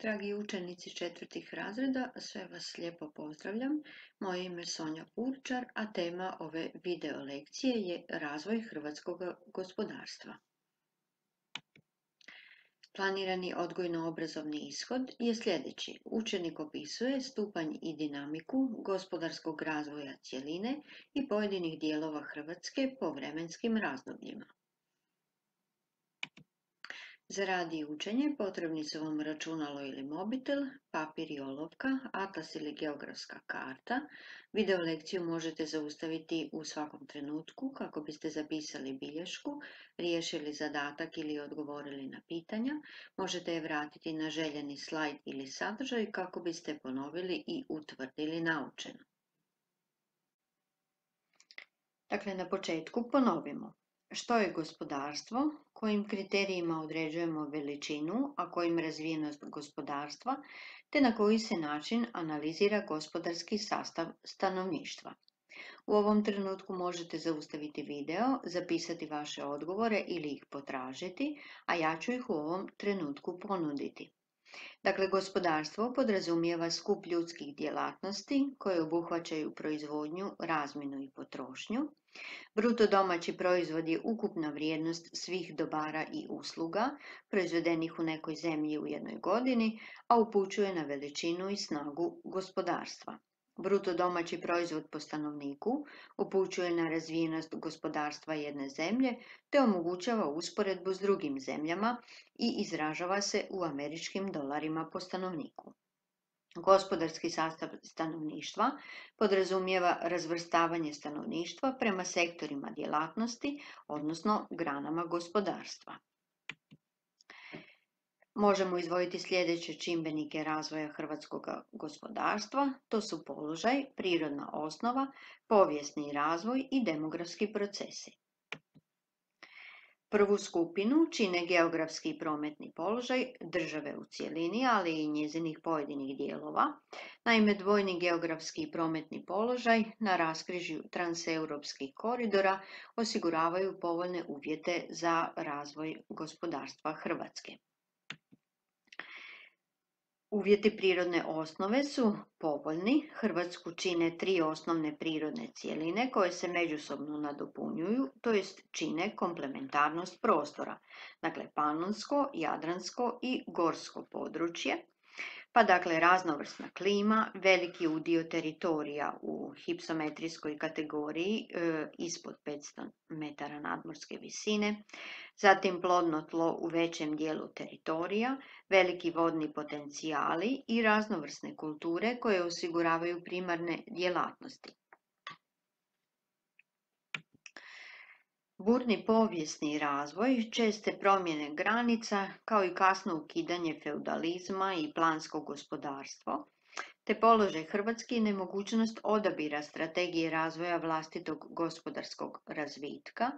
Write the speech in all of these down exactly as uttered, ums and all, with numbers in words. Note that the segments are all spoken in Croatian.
Dragi učenici četvrtih razreda, sve vas lijepo pozdravljam. Moje ime je Sonja Purčar, a tema ove video lekcije je razvoj hrvatskog gospodarstva. Planirani odgojno-obrazovni ishod je sljedeći. Učenik opisuje stupanj i dinamiku gospodarskog razvoja cjeline i pojedinih dijelova Hrvatske po vremenskim razdobljima. Za rad i učenje potrebni su vam računalo ili mobitel, papir i olovka, atlas ili geografska karta. Video lekciju možete zaustaviti u svakom trenutku kako biste zapisali bilješku, riješili zadatak ili odgovorili na pitanja. Možete je vratiti na željeni slajd ili sadržaj kako biste ponovili i utvrdili naučeno. Dakle, na početku ponovimo. Što je gospodarstvo, kojim kriterijima određujemo veličinu, a kojim razvijenost gospodarstva, te na koji se način analizira gospodarski sastav stanovništva. U ovom trenutku možete zaustaviti video, zapisati vaše odgovore ili ih potražiti, a ja ću ih u ovom trenutku ponuditi. Dakle, gospodarstvo podrazumijeva skup ljudskih djelatnosti koje obuhvaćaju proizvodnju, razmjenu i potrošnju. Bruto domaći proizvod je ukupna vrijednost svih dobara i usluga proizvedenih u nekoj zemlji u jednoj godini, a upućuje na veličinu i snagu gospodarstva. Bruto domaći proizvod po stanovniku upućuje na razvijenost gospodarstva jedne zemlje te omogućava usporedbu s drugim zemljama i izražava se u američkim dolarima po stanovniku. Gospodarski sastav stanovništva podrazumijeva razvrstavanje stanovništva prema sektorima djelatnosti, odnosno granama gospodarstva. Možemo izdvojiti sljedeće čimbenike razvoja hrvatskog gospodarstva, to su položaj, prirodna osnova, povijesni razvoj i demografski procesi. Prvu skupinu čine geografski i prometni položaj države u cjelini, ali i njezinih pojedinih dijelova. Naime, dvojni geografski i prometni položaj na raskrižju transeuropskih koridora osiguravaju povoljne uvjete za razvoj gospodarstva Hrvatske. Uvjeti prirodne osnove su povoljni. Hrvatsku čine tri osnovne prirodne cjeline koje se međusobno nadopunjuju, to jest čine komplementarnost prostora, dakle panonsko, jadransko i gorsko područje. Pa dakle raznovrsna klima, veliki udio teritorija u hipsometrijskoj kategoriji e, ispod petsto metara nadmorske visine, zatim plodno tlo u većem dijelu teritorija, veliki vodni potencijali i raznovrsne kulture koje osiguravaju primarne djelatnosti. Burni povijesni razvoj, česte promjene granica, kao i kasno ukidanje feudalizma i plansko gospodarstvo, te položaj Hrvatske i nemogućnost odabira strategije razvoja vlastitog gospodarskog razvitka,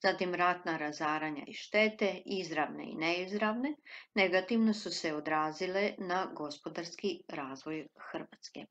zatim ratna razaranja i štete, izravne i neizravne, negativno su se odrazile na gospodarski razvoj Hrvatske.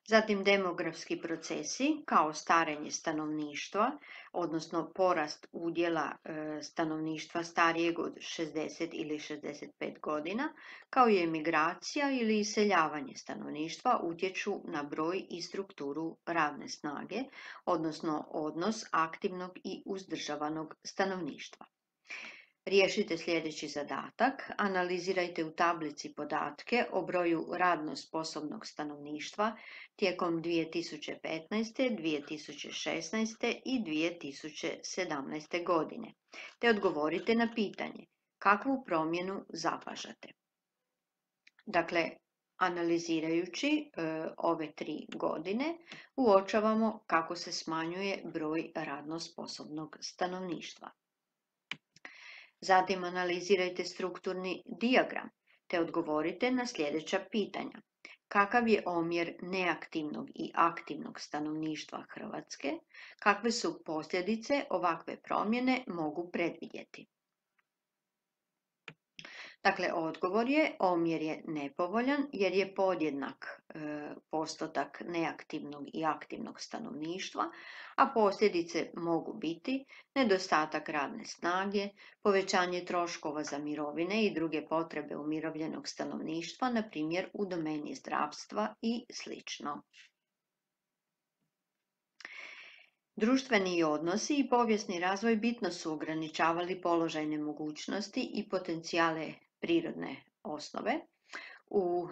Zatim demografski procesi kao starenje stanovništva, odnosno porast udjela e, stanovništva starijeg od šezdeset ili šezdeset pet godina, kao i emigracija ili iseljavanje stanovništva utječu na broj i strukturu radne snage, odnosno odnos aktivnog i uzdržavanog stanovništva. Riješite sljedeći zadatak, analizirajte u tablici podatke o broju radno sposobnog stanovništva tijekom dvije tisuće petnaeste, dvije tisuće šesnaeste i dvije tisuće sedamnaeste godine, te odgovorite na pitanje kakvu promjenu zapažate. Dakle, analizirajući e, ove tri godine, uočavamo kako se smanjuje broj radno sposobnog stanovništva. Zatim analizirajte strukturni dijagram te odgovorite na sljedeća pitanja. Kakav je omjer neaktivnog i aktivnog stanovništva Hrvatske? Kakve su posljedice ovakve promjene mogu predvidjeti? Dakle, odgovor je omjer je nepovoljan jer je podjednak e, postotak neaktivnog i aktivnog stanovništva, a posljedice mogu biti nedostatak radne snage, povećanje troškova za mirovine i druge potrebe umirovljenog stanovništva, na primjer u domeni zdravstva i slično. Društveni odnosi i povijesni razvoj bitno su ograničavali položajne mogućnosti i potencijale prirodne osnove. U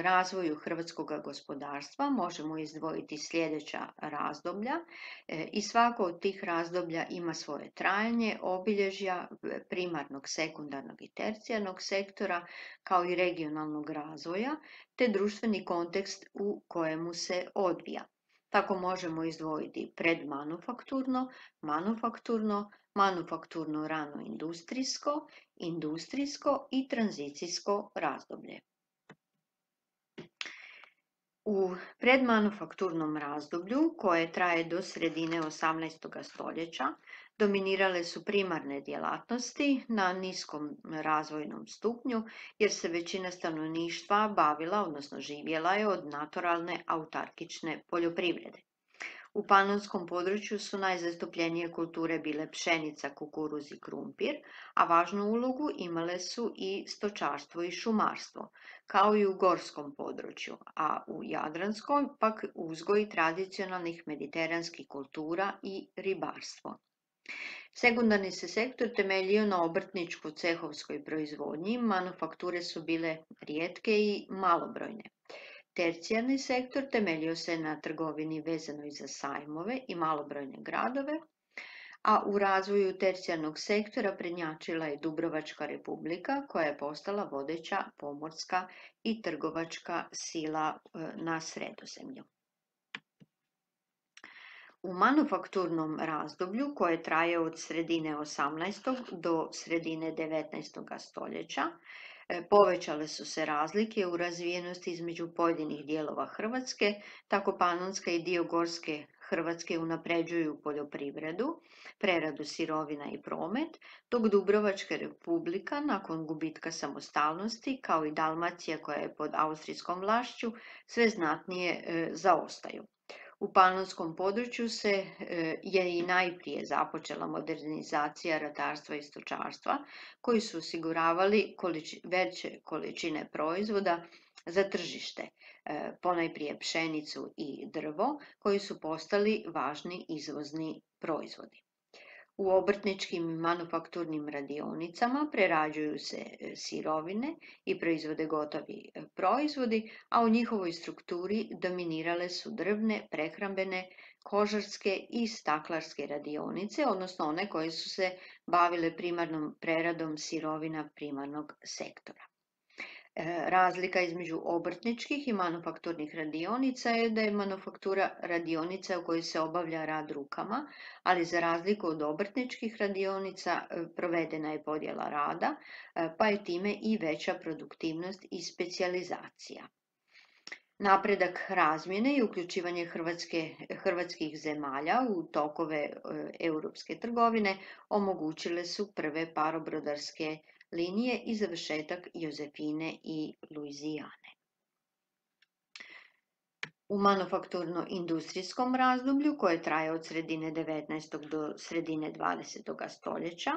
razvoju hrvatskog gospodarstva možemo izdvojiti sljedeća razdoblja i svako od tih razdoblja ima svoje trajanje, obilježja primarnog, sekundarnog i tercijarnog sektora, kao i regionalnog razvoja, te društveni kontekst u kojemu se odvija. Tako možemo izdvojiti predmanufakturno, manufakturno, manufakturno rano industrijsko, industrijsko i tranzicijsko razdoblje. U predmanufakturnom razdoblju, koje traje do sredine osamnaestog stoljeća, dominirale su primarne djelatnosti na niskom razvojnom stupnju, jer se većina stanovništva bavila, odnosno živjela je od naturalne autarkične poljoprivrede. U panonskom području su najzastupljenije kulture bile pšenica, kukuruz i krumpir, a važnu ulogu imale su i stočarstvo i šumarstvo, kao i u gorskom području, a u jadranskom pak uzgoj tradicionalnih mediteranskih kultura i ribarstvo. Sekundarni se sektor temeljio na obrtničko-cehovskoj proizvodnji, manufakture su bile rijetke i malobrojne. Tercijarni sektor temeljio se na trgovini vezanoj za sajmove i malobrojne gradove, a u razvoju tercijarnog sektora prednjačila je Dubrovačka republika, koja je postala vodeća pomorska i trgovačka sila na Sredozemlju. U manufakturnom razdoblju, koje traje od sredine osamnaestog do sredine devetnaestog stoljeća, povećale su se razlike u razvijenosti između pojedinih dijelova Hrvatske, tako Panonska i dio Gorske Hrvatske unapređuju poljoprivredu, preradu sirovina i promet, dok Dubrovačka republika nakon gubitka samostalnosti, kao i Dalmacija koja je pod austrijskom vlašću, sve znatnije e, zaostaju. U panonskom području se e, je i najprije započela modernizacija ratarstva i stočarstva, koji su osiguravali količi, veće količine proizvoda za tržište, e, ponajprije pšenicu i drvo, koji su postali važni izvozni proizvodi. U obrtničkim i manufakturnim radionicama prerađuju se sirovine i proizvode gotovi proizvodi, a u njihovoj strukturi dominirale su drvne, prehrambene, kožarske i staklarske radionice, odnosno one koje su se bavile primarnom preradom sirovina primarnog sektora. Razlika između obrtničkih i manufakturnih radionica je da je manufaktura radionica u kojoj se obavlja rad rukama, ali za razliku od obrtničkih radionica provedena je podjela rada, pa je time i veća produktivnost i specijalizacija. Napredak razmjene i uključivanje Hrvatske, hrvatskih zemalja u tokove e, europske trgovine omogućile su prve parobrodarske linije i završetak Jozefine i Luizijane. U manufakturno-industrijskom razdoblju, koje traje od sredine devetnaestog do sredine dvadesetog stoljeća,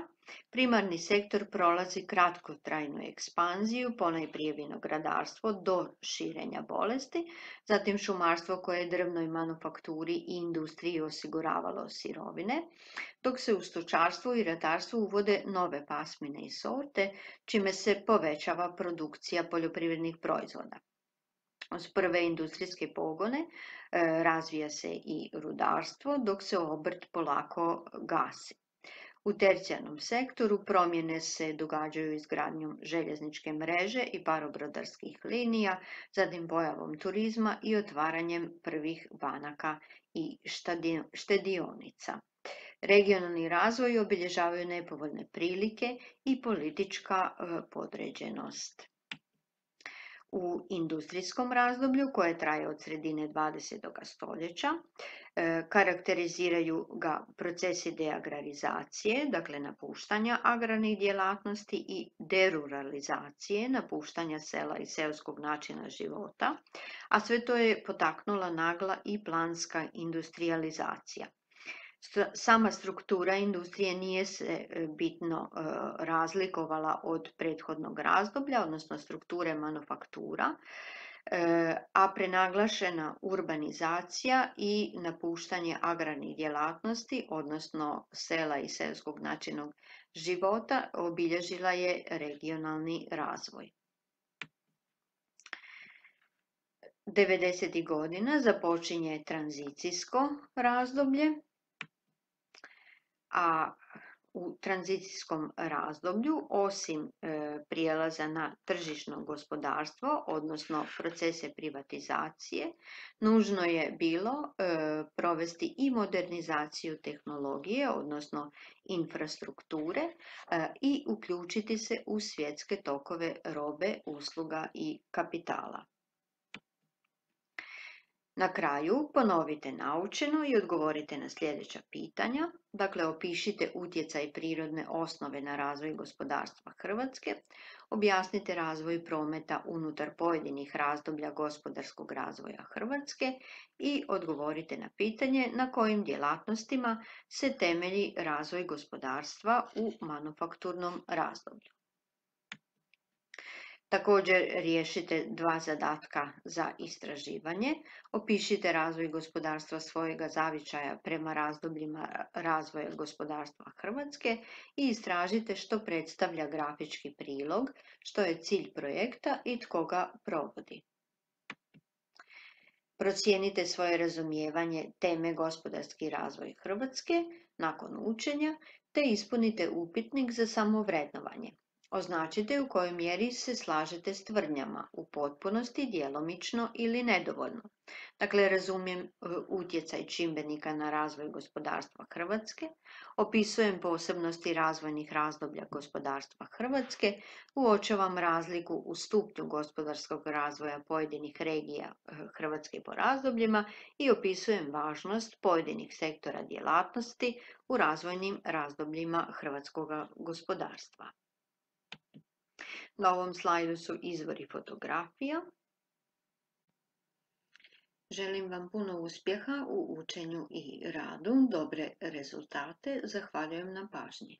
primarni sektor prolazi kratkotrajnu ekspanziju, ponajprije vinogradarstvo do širenja bolesti, zatim šumarstvo koje je drvnoj manufakturi i industriji osiguravalo sirovine, dok se u stočarstvu i ratarstvu uvode nove pasmine i sorte, čime se povećava produkcija poljoprivrednih proizvoda. Uz prve industrijske pogone e, razvija se i rudarstvo, dok se obrt polako gasi. U tercijarnom sektoru promjene se događaju izgradnjom željezničke mreže i parobrodarskih linija, zatim pojavom turizma i otvaranjem prvih banaka i štedionica. Regionalni razvoj obilježavaju nepovoljne prilike i politička e, podređenost. U industrijskom razdoblju koje traje od sredine dvadesetog stoljeća e, karakteriziraju ga procesi deagrarizacije, dakle napuštanja agrarnih djelatnosti i deruralizacije, napuštanja sela i seoskog načina života, a sve to je potaknula nagla i planska industrijalizacija. Sama struktura industrije nije se bitno razlikovala od prethodnog razdoblja, odnosno strukture manufaktura, a prenaglašena urbanizacija i napuštanje agrarnih djelatnosti, odnosno sela i seoskog načina života, obilježila je regionalni razvoj. devedesetih godina započinje tranzicijsko razdoblje, a u tranzicijskom razdoblju, osim e, prijelaza na tržišno gospodarstvo, odnosno procese privatizacije, nužno je bilo e, provesti i modernizaciju tehnologije, odnosno infrastrukture, e, i uključiti se u svjetske tokove robe, usluga i kapitala. Na kraju ponovite naučeno i odgovorite na sljedeća pitanja. Dakle, opišite utjecaj prirodne osnove na razvoj gospodarstva Hrvatske, objasnite razvoj prometa unutar pojedinih razdoblja gospodarskog razvoja Hrvatske i odgovorite na pitanje na kojim djelatnostima se temelji razvoj gospodarstva u manufakturnom razdoblju. Također riješite dva zadatka za istraživanje. Opišite razvoj gospodarstva svojega zavičaja prema razdobljima razvoja gospodarstva Hrvatske i istražite što predstavlja grafički prilog, što je cilj projekta i tko ga provodi. Procijenite svoje razumijevanje teme gospodarski razvoj Hrvatske nakon učenja te ispunite upitnik za samovrednovanje. Označite u kojoj mjeri se slažete s tvrdnjama, u potpunosti, djelomično ili nedovoljno. Dakle, razumijem utjecaj čimbenika na razvoj gospodarstva Hrvatske, opisujem posebnosti razvojnih razdoblja gospodarstva Hrvatske, uočavam razliku u stupnju gospodarskog razvoja pojedinih regija Hrvatske po razdobljima i opisujem važnost pojedinih sektora djelatnosti u razvojnim razdobljima hrvatskog gospodarstva. Na ovom slajdu su izvori fotografija. Želim vam puno uspjeha u učenju i radu, dobre rezultate. Zahvaljujem na pažnji.